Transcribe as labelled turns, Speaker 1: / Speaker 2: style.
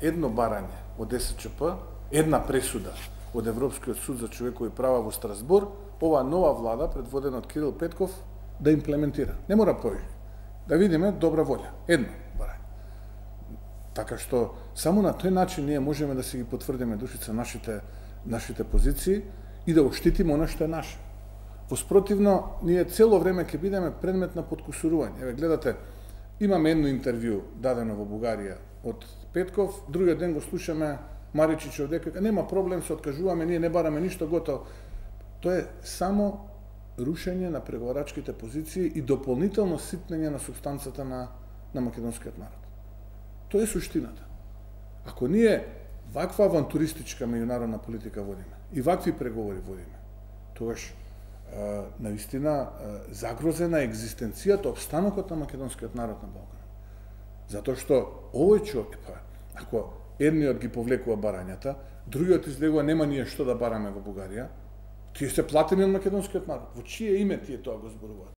Speaker 1: едно барање од ДСЧП, една пресуда од Европскиот суд за човекови права во Страсбур, ова нова влада, предводена од Кирил Петков, да имплементира. Не мора повеќе. Да видиме добра волја. Едно барање. Така што, само на тој начин ние можеме да си ги потврдиме, Душица, нашите позиции и да оштитиме она што е наше. Воспротивно, ние цело време ќе бидеме предмет на подкусурување. Еве, гледате, имаме едно интервју дадено во Бугарија од Петков, другиот ден го слушаме Маричичов дека нема проблем, се откажуваме, ние не бараме ништо, готово. Тоа е само рушење на преговарачките позиции и дополнително ситнење на субстанцата на македонскиот народ. Тоа е суштината. Ако ние ваква авантуристичка меѓународна политика водиме и вакви преговори водиме, тогаш наистина загрозена екзистенцијата, обстанокот на македонскиот народ на Балкан. Затоа што овој човек, ако едниот ги повлекува барањата, другиот излегува нема ние што да бараме во Бугарија, тие се платени од македонскиот народ. Во чие име тие тоа го зборуваат?